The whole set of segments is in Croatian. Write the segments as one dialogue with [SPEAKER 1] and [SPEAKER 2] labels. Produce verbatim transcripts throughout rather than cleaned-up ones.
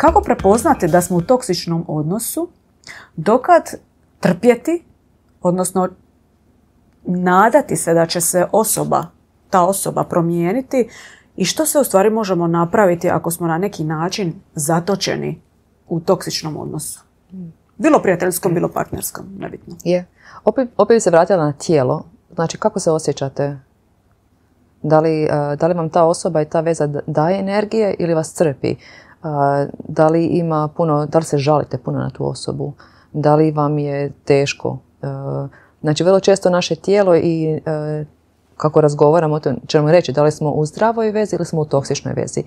[SPEAKER 1] kako prepoznati da smo u toksičnom odnosu, dokad trpjeti, odnosno nadati se da će se osoba, ta osoba promijeniti i što se u stvari možemo napraviti ako smo na neki način zatočeni u toksičnom odnosu. Bilo prijateljskom, bilo partnerskom, nebitno.
[SPEAKER 2] Je. Opet, opet bi se vratila na tijelo. Znači, kako se osjećate? Da li, uh, da li vam ta osoba i ta veza daje energije ili vas crpi? Uh, da li ima puno, da li se žalite puno na tu osobu? Da li vam je teško? Uh, znači, vrlo često naše tijelo i uh, kako razgovaramo o tom, ćemo reći da li smo u zdravoj vezi ili smo u toksičnoj vezi.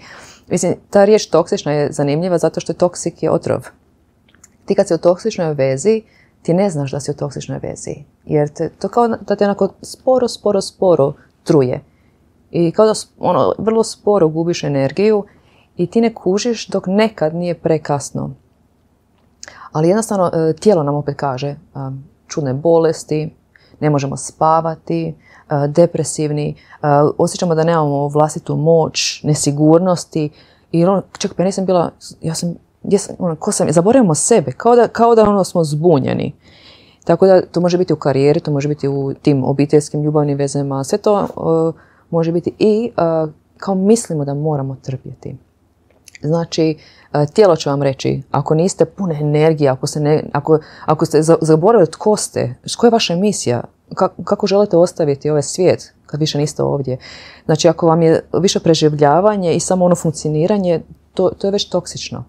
[SPEAKER 2] Mislim, ta riječ toksična je zanimljiva zato što je toksik je otrov. Ti kad si u toksičnoj vezi, ti ne znaš da si u toksičnoj vezi. Jer te, to kao da te onako sporo, sporo, sporo truje. I kao da ono, vrlo sporo gubiš energiju i ti ne kužiš dok nekad nije prekasno. Ali jednostavno tijelo nam opet kaže čudne bolesti, ne možemo spavati, depresivni, osjećamo da nemamo vlastitu moć, nesigurnosti. I ono, čak pa nisam bila, ja sam, jesam, ono, ko sam, zaboravimo sebe, kao da, kao da ono smo zbunjeni. Tako da to može biti u karijeri, to može biti u tim obiteljskim ljubavnim vezama, sve to uh, može biti i uh, kao mislimo da moramo trpjeti. Znači, uh, tijelo će vam reći, ako niste pune energije, ako, se ne, ako, ako ste zaboravili tko ste, koja je vaša misija, kako, kako želite ostaviti ovaj svijet kad više niste ovdje. Znači, ako vam je više preživljavanje i samo ono funkcioniranje, to, to je već toksično.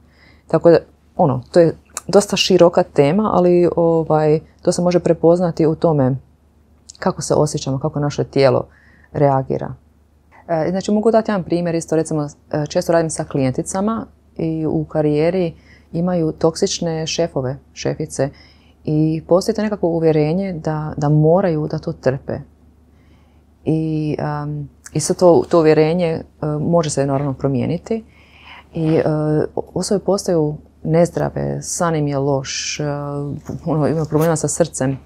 [SPEAKER 2] Tako da, ono, to je dosta široka tema, ali ovaj, to se može prepoznati u tome kako se osjećamo, kako naše tijelo reagira. E, znači, mogu dati jedan primjer, isto recimo, često radim sa klijenticama i u karijeri imaju toksične šefove, šefice i postoji to nekako uvjerenje da, da moraju da to trpe. I, um, i sad to, to uvjerenje uh, može se naravno promijeniti i uh, osobe postaju nezdrave, san im je loš, uh, ima problema sa srcem.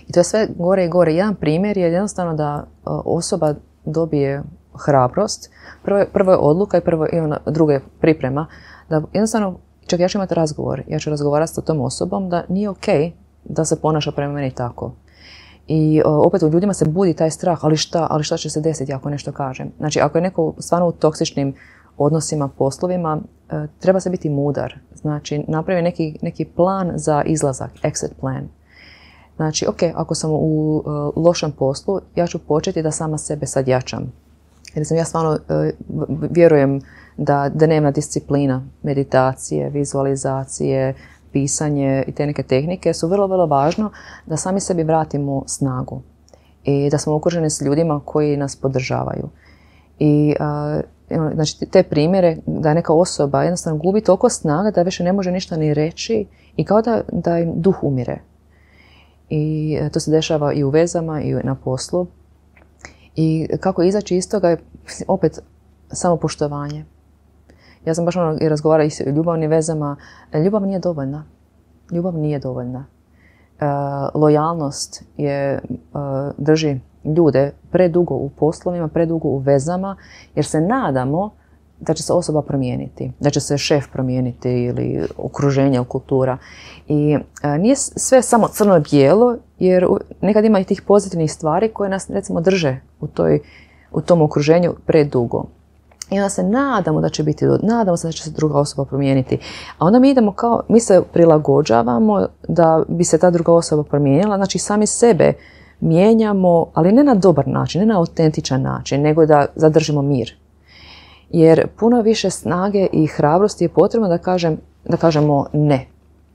[SPEAKER 2] I to je sve gore i gore. Jedan primjer je jednostavno da uh, osoba dobije hrabrost. Prvo, prvo je odluka i prvo je ona, druga je priprema. Da jednostavno, čak ja ću imati razgovor, ja ću razgovarati sa tom osobom da nije ok da se ponaša prema meni tako. I uh, opet u ljudima se budi taj strah, ali šta, ali šta će se desiti ako nešto kažem. Znači, ako je neko stvarno u toksičnim odnosima, poslovima, uh, treba se biti mudar. Znači, napravi neki, neki plan za izlazak, exit plan. Znači, ok, ako sam u uh, lošem poslu, ja ću početi da sama sebe sad jačam. Jer sam ja stvarno uh, vjerujem da dnevna disciplina, meditacije, vizualizacije, pisanje i te neke tehnike su vrlo, vrlo važno da sami sebi vratimo snagu i da smo okruženi s ljudima koji nas podržavaju. I uh, znači, te primjere da neka osoba jednostavno gubi toliko snaga da više ne može ništa ni reći i kao da, da im duh umire. I to se dešava i u vezama i na poslu. I kako izaći iz toga je opet samopoštovanje. Ja sam baš ono i razgovarala i s ljubavnim vezama. Ljubav nije dovoljna. Ljubav nije dovoljna. E, lojalnost je, uh, drži ljude predugo u poslovima, predugo u vezama, jer se nadamo da će se osoba promijeniti, da će se šef promijeniti ili okruženje ili kultura. I uh, nije sve samo crno-bijelo, jer nekad ima i tih pozitivnih stvari koje nas recimo drže u, toj, u tom okruženju predugo. I onda se nadamo da će biti, nadamo se da će se druga osoba promijeniti. A onda mi idemo kao, mi se prilagođavamo da bi se ta druga osoba promijenila, znači sami sebe mijenjamo, ali ne na dobar način, ne na autentičan način, nego da zadržimo mir. Jer puno više snage i hrabrosti je potrebno da, kažem, da kažemo ne.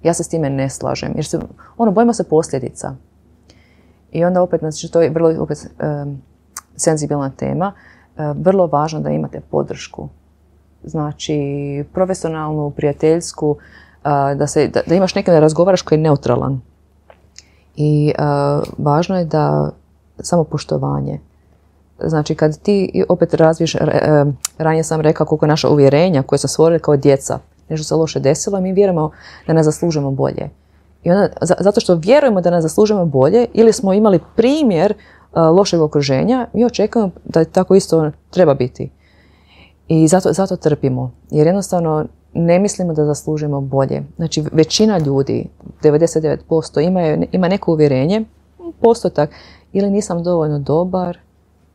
[SPEAKER 2] Ja se s time ne slažem, jer se, ono, bojimo se posljedica. I onda opet, znači to je vrlo opet um, senzibilna tema, vrlo važno da imate podršku. Znači, profesionalnu, prijateljsku, da, se, da, da imaš nekim da razgovaraš koji je neutralan. I uh, važno je da samopoštovanje. Znači, kad ti opet razviješ, ranije sam rekao koliko je naša uvjerenja koje smo stvorili kao djeca, nešto se loše desilo i mi vjerujemo da ne zaslužujemo bolje. I onda, zato što vjerujemo da ne zaslužujemo bolje ili smo imali primjer lošeg okruženja, mi očekujemo da tako isto treba biti. I zato, zato trpimo. Jer jednostavno ne mislimo da zaslužujemo bolje. Znači, većina ljudi, devedeset devet posto, imaju, ima neko uvjerenje, postotak, ili nisam dovoljno dobar,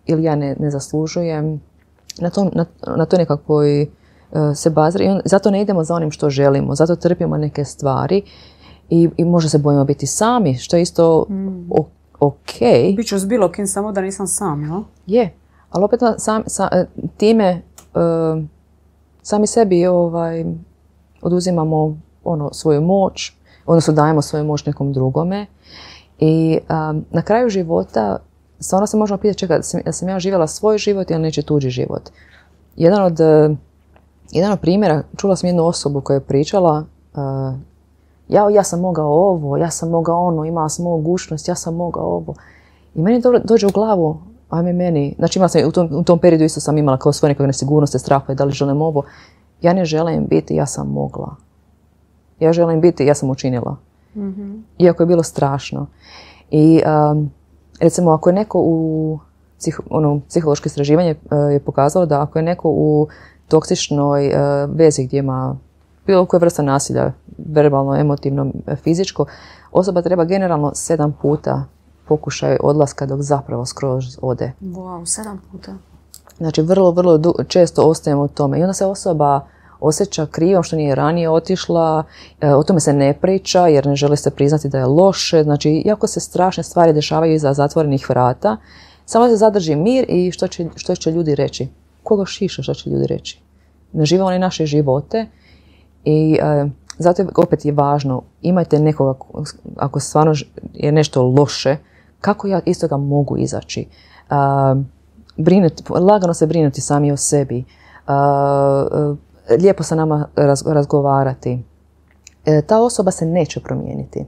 [SPEAKER 2] ili ja ne, ne zaslužujem. Na to, na, na to nekakvoj uh, se bazira i on, zato ne idemo za onim što želimo, zato trpimo neke stvari i, i možda se bojimo biti sami, što je isto mm. o, ok.
[SPEAKER 1] Biću s bilo kim, samo da nisam sam, jel?
[SPEAKER 2] Je, ali opet sam, sam, time uh, sami sebi ovaj, oduzimamo ono, svoju moć, odnosno dajemo svoju moć nekom drugome i um, na kraju života stvarno se možemo pitati, čekaj, sam, sam ja živjela svoj život ili neće tuđi život. Jedan od, jedan od primjera, čula sam jednu osobu koja je pričala, uh, ja, ja sam mogao ovo, ja sam mogao ono, imala sam mogućnost, ja sam mogao ovo. I meni do, dođe u glavu, ajme meni, znači imala sam, u, tom, u tom periodu isto sam imala kao svoje nekakve nesigurnosti, straha, da li želim ovo. Ja ne želim biti, ja sam mogla. Ja želim biti, ja sam učinila. Mm-hmm. Iako je bilo strašno. I um, recimo, ako je neko u psih, ono, psihološko istraživanje uh, je pokazalo da ako je neko u toksičnoj uh, vezi gdje ima bilo koja vrsta nasilja, verbalno, emotivno, fizičko, osoba treba generalno sedam puta pokušaj odlaska dok zapravo skroz ode.
[SPEAKER 1] Wow, sedam puta.
[SPEAKER 2] Znači, vrlo, vrlo du- često ostajemo u tome. I onda se osoba osjeća krivom što nije ranije otišla, e, o tome se ne priča jer ne želi se priznati da je loše. Znači, iako se strašne stvari dešavaju iza zatvorenih vrata, samo se zadrži mir i što će, što će ljudi reći. Koga šiša što će ljudi reći? Ne žive oni naše živote i e, zato je, opet je važno, imajte nekoga, ako stvarno je nešto loše, kako ja iz toga mogu izaći. E, brinuti, lagano se brinuti sami o sebi. E, lijepo sa nama raz, razgovarati. E, ta osoba se neće promijeniti.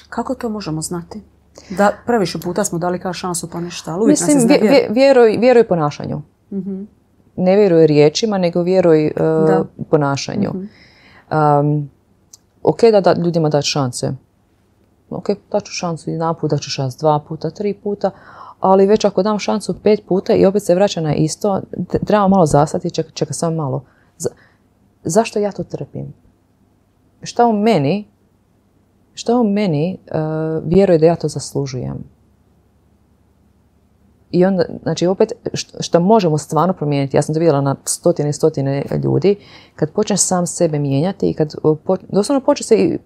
[SPEAKER 1] Kako to možemo znati? Da, previše puta smo dali kao šansu pa ništa, ali uvijek
[SPEAKER 2] Mislim,
[SPEAKER 1] nas
[SPEAKER 2] vje, vje, vjeruj, vjeruj ponašanju.
[SPEAKER 1] Mm-hmm.
[SPEAKER 2] Ne vjeruj riječima, nego vjeruj uh, ponašanju.
[SPEAKER 1] Mm-hmm.
[SPEAKER 2] Um, ok da, da ljudima dati šanse. Ok, daću šansu jedan put, daću šansu dva puta, tri puta, ali već ako dam šansu pet puta i opet se vraća na isto, treba malo zastati i čeka, čeka samo malo. Za, zašto ja to trpim? Šta u meni, šta u meni uh, vjeruje da ja to zaslužujem? I onda, znači opet, što možemo stvarno promijeniti, ja sam to vidjela na stotine i stotine ljudi, kad počneš sam sebe mijenjati i kad poč, doslovno počne se i,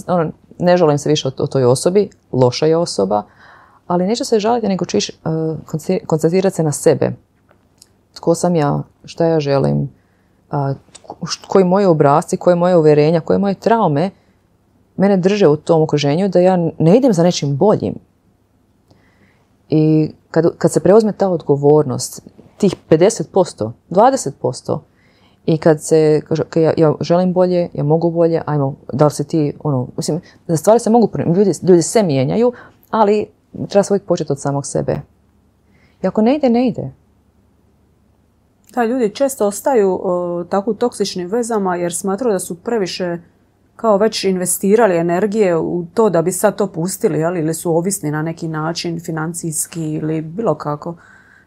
[SPEAKER 2] ono, ne žalim se više o, o toj osobi, loša je osoba, ali neće se žaliti, nego ćeš uh, koncentrirati se na sebe. Tko sam ja, šta ja želim, uh, koji moji obrasci, koje moje uvjerenja, koje moje traume mene drže u tom okruženju da ja ne idem za nečim boljim. I kad, kad se preuzme ta odgovornost, tih pedeset posto, dvadeset posto, i kad se kaže, okay, ja, ja želim bolje, ja mogu bolje, ajmo, da li si ti, ono, mislim, da stvari se mogu, ljudi, ljudi se mijenjaju, ali treba se uvijek početi od samog sebe. I ako ne ide, ne ide.
[SPEAKER 1] Da, ljudi često ostaju o, tako u toksičnim vezama jer smatraju da su previše kao već investirali energije u to da bi sad to pustili, jel? Ili su ovisni na neki način, financijski ili bilo kako.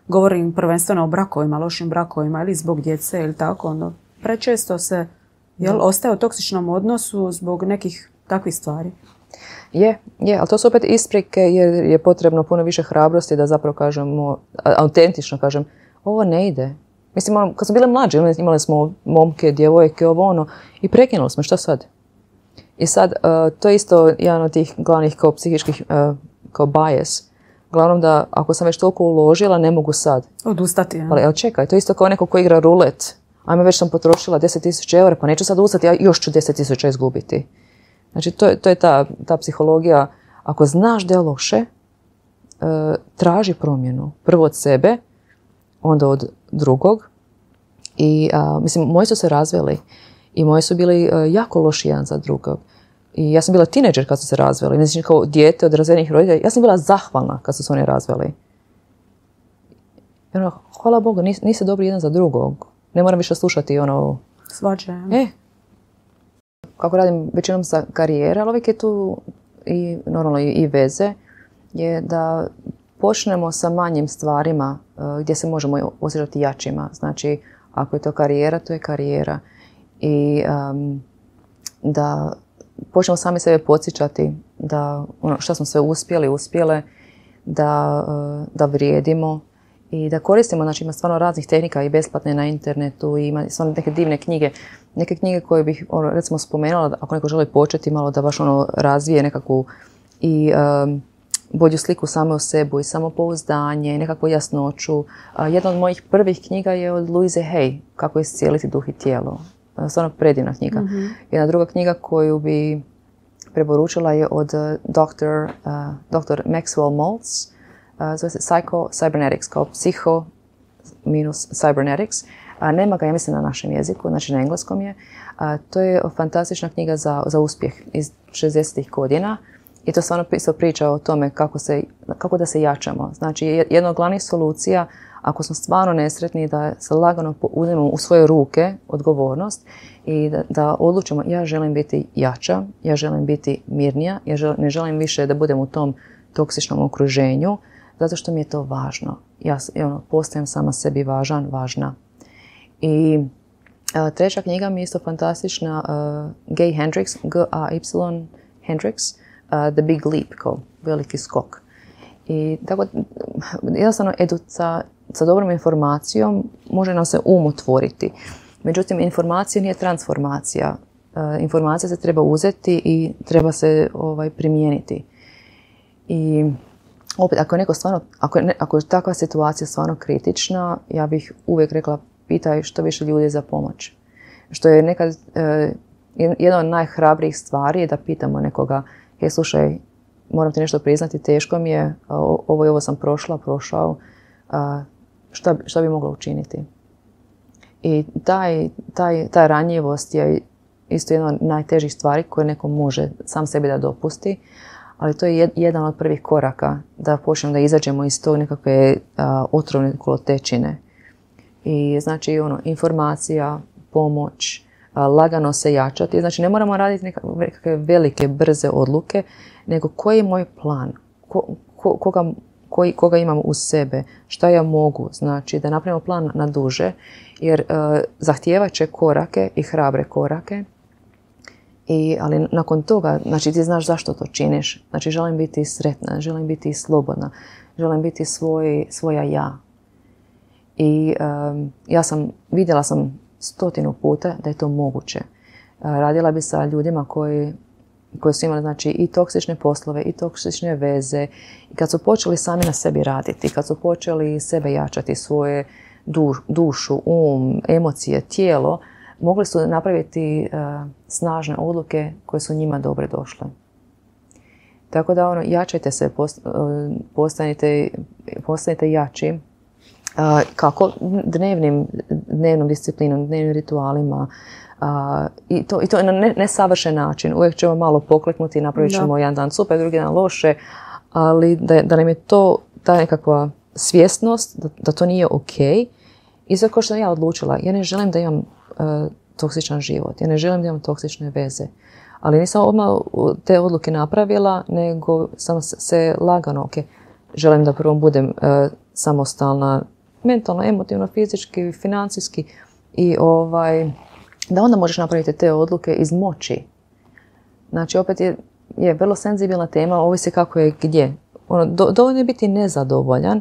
[SPEAKER 1] Govorim prvenstveno o brakovima, lošim brakovima ili zbog djece ili tako. Ono, prečesto se jel, ostaje u toksičnom odnosu zbog nekih takvih stvari.
[SPEAKER 2] Je, je, ali to su opet isprike jer je potrebno puno više hrabrosti da zapravo kažemo, autentično kažem, ovo ne ide. Mislim, ono, kad smo bile mlađe, imali smo momke, djevojke, ovo ono, i prekinuli smo, šta sad? I sad, uh, to je isto jedan od tih glavnih kao psihičkih, uh, kao bias. Glavnom da ako sam već toliko uložila, ne mogu sad.
[SPEAKER 1] Odustati, ja.
[SPEAKER 2] Ali, ali čekaj, to je isto kao neko ko igra rulet. Ajme, već sam potrošila deset tisuća eura, pa neću sad ustati, ja još ću deset tisuća izgubiti. Znači, to, to je ta, ta psihologija. Ako znaš da je loše, uh, traži promjenu. Prvo od sebe, onda od drugog. I, uh, mislim, moji su se razveli. I moji su bili uh, jako loši jedan za drugog. I ja sam bila tineđer kad su se razveli. Mislim, kao dijete od razvedenih roditelja. Ja sam bila zahvalna kad su se oni razveli. I ono, hvala Bogu, nis, niste dobri jedan za drugog. Ne moram više slušati ono...
[SPEAKER 1] Svađe.
[SPEAKER 2] E, kako radim većinom sa karijera, ali uvijek je tu i normalno i, i veze, je da počnemo sa manjim stvarima uh, gdje se možemo osjećati jačima. Znači, ako je to karijera, to je karijera. i um, da počnemo sami sebe podsjećati da ono što smo sve uspjeli, uspjele, da, uh, da vrijedimo i da koristimo, znači ima stvarno raznih tehnika i besplatne na internetu i ima stvarno neke divne knjige, neke knjige koje bih ono, recimo spomenula, ako neko želi početi malo da baš ono razvije nekakvu i um, bolju sliku same o sebi i samopouzdanje, nekakvu jasnoću. Uh, jedna od mojih prvih knjiga je od Louise Hay, Kako iscijeliti duh i tijelo. Uh, stvarno predivna knjiga. Mm-hmm. Jedna druga knjiga koju bi preporučila je od doktor uh, doktor Maxwell Maltz, uh, zove se Psycho Cybernetics, kao psiho minus cybernetics. Uh, nema ga, ja mislim, na našem jeziku, znači na engleskom je. Uh, to je fantastična knjiga za, za uspjeh iz šezdesetih godina. I to stvarno isto priča o tome kako, se, kako da se jačamo. Znači, jedna od glavnih solucija, ako smo stvarno nesretni, da se lagano uzmemo u svoje ruke odgovornost i da, da odlučimo ja želim biti jača, ja želim biti mirnija, ja želim, ne želim više da budem u tom toksičnom okruženju, zato što mi je to važno. Ja, ja ono, postajem sama sebi važan, važna. I a, treća knjiga mi je isto fantastična, uh, Gay Hendricks, G A Y Hendricks, uh, The Big Leap, kao veliki skok. I tako, jednostavno, edu, sa, sa dobrom informacijom može nam se um otvoriti. Međutim, informacija nije transformacija. Uh, informacija se treba uzeti i treba se ovaj, primijeniti. I opet, ako je, neko stvarno, ako, je, ako je takva situacija stvarno kritična, ja bih uvijek rekla pitaj što više ljudi za pomoć. Što je nekad uh, jedna od najhrabrijih stvari je da pitamo nekoga, je slušaj, moram ti nešto priznati, teško mi je, ovo i ovo sam prošla, prošao, šta, šta bi mogla učiniti? I taj, taj, ta ranjivost je isto jedna od najtežih stvari koje neko može sam sebi da dopusti, ali to je jedan od prvih koraka da počnemo da izađemo iz tog nekakve a, otrovne kolotečine. I znači ono, informacija, pomoć, a, lagano se jačati. Znači ne moramo raditi nekakve velike, brze odluke, nego koji je moj plan, ko, ko, koga, koji, koga imam uz sebe, šta ja mogu, znači da napravimo plan na duže, jer uh, zahtijevat će korake i hrabre korake, I, ali nakon toga, znači ti znaš zašto to činiš, znači želim biti sretna, želim biti slobodna, želim biti svoj, svoja ja. I um, ja sam, vidjela sam stotinu puta da je to moguće. Uh, radila bi sa ljudima koji koji su imali znači, i toksične poslove, i toksične veze. I kad su počeli sami na sebi raditi, kad su počeli sebe jačati, svoje duš, dušu, um, emocije, tijelo, mogli su napraviti uh, snažne odluke koje su njima dobre došle. Tako da ono, jačajte se, post, uh, postanite, postanite jači. Uh, kako? Dnevnim, dnevnom disciplinom, dnevnim ritualima, Uh, i, to, i to na ne, nesavršen način. Uvijek ćemo malo pokleknuti i napravit ćemo jedan dan super, drugi dan loše, ali da, da nam je to ta nekakva svjesnost da, da to nije ok. I zato kao što sam ja odlučila, ja ne želim da imam uh, toksičan život, ja ne želim da imam toksične veze. Ali nisam odmah te odluke napravila, nego sam se lagano, ok, želim da prvo budem uh, samostalna, mentalno, emotivno, fizički, financijski i ovaj... da onda možeš napraviti te odluke iz moći. Znači, opet je, je vrlo senzibilna tema, ovisi kako je gdje. Ono, do, dovoljno je biti nezadovoljan,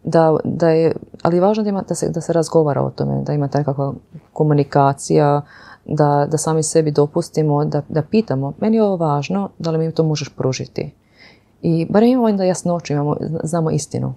[SPEAKER 2] da, da je, ali je važno da, ima, da, se, da se razgovara o tome, da ima takva komunikacija, da, da sami sebi dopustimo, da, da pitamo, meni je ovo važno, da li mi to možeš pružiti. I barem imamo da jasnoću, imamo, znamo istinu.